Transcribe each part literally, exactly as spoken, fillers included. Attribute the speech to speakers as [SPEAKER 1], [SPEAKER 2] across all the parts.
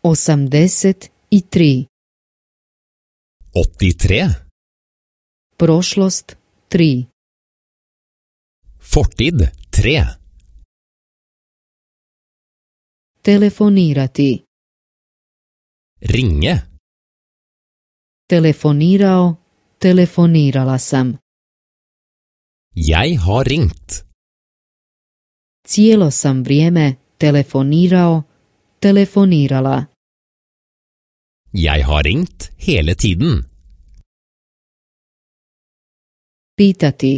[SPEAKER 1] osamdeset tri.
[SPEAKER 2] åttitre.
[SPEAKER 1] Prošlost tri.
[SPEAKER 2] Fortid tre.
[SPEAKER 1] Telefonirati.
[SPEAKER 2] Ringe.
[SPEAKER 1] Telefonirao, telefonirala sam.
[SPEAKER 2] Jeg har ringt.
[SPEAKER 1] Cijelo sam vrijeme telefonirao, telefonirala.
[SPEAKER 2] Jeg har ringt hele tiden.
[SPEAKER 1] Pitati.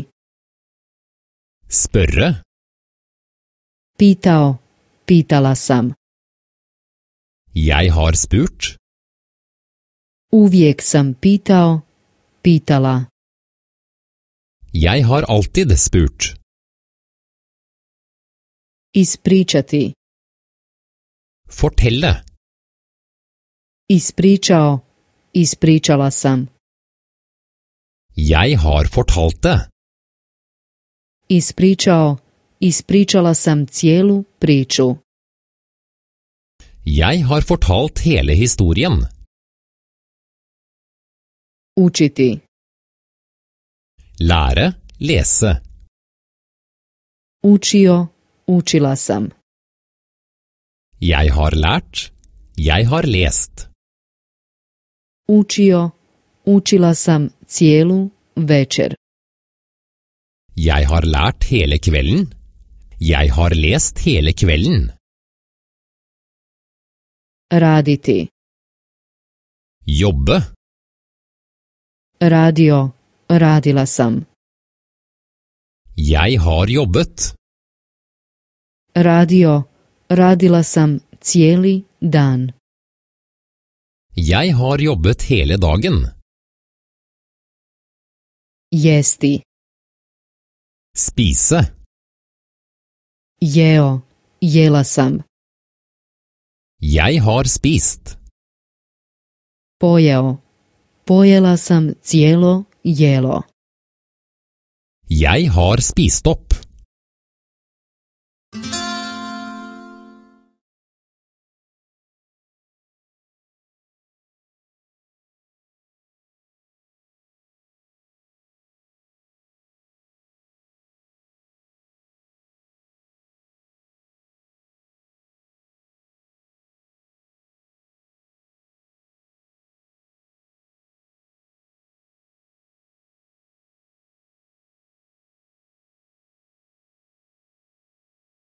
[SPEAKER 2] Spørre.
[SPEAKER 1] Pitao, pitala sam.
[SPEAKER 2] Jeg har spurt.
[SPEAKER 1] Uvijek sam pitao, pitala.
[SPEAKER 2] Jeg har alltid spurt.
[SPEAKER 1] Ispričati.
[SPEAKER 2] Fortelle.
[SPEAKER 1] Ispričao, ispričala sam.
[SPEAKER 2] Jeg har fortalt det.
[SPEAKER 1] Ispričao, ispričala sam cijelu priču.
[SPEAKER 2] Jeg har fortalt hele historien.
[SPEAKER 1] Učiti.
[SPEAKER 2] Lære, lese.
[SPEAKER 1] Učio, učila sam.
[SPEAKER 2] Jeg har lært, jeg har lest.
[SPEAKER 1] Učio, učila sam cijelu večer.
[SPEAKER 2] Jeg har lært hele kvelden. Jeg har lest hele kvelden.
[SPEAKER 1] Raditi.
[SPEAKER 2] Jobbe.
[SPEAKER 1] Radio, radila sam.
[SPEAKER 2] Jeg har jobbet.
[SPEAKER 1] Radio, radila sam cijeli dan.
[SPEAKER 2] Jeg har jobbet hele dagen.
[SPEAKER 1] Jesti.
[SPEAKER 2] Spise.
[SPEAKER 1] Jeo, jela sam.
[SPEAKER 2] Jeg har spist.
[SPEAKER 1] Pojeo, pojela sam cijelo jelo.
[SPEAKER 2] Jeg har spist opp.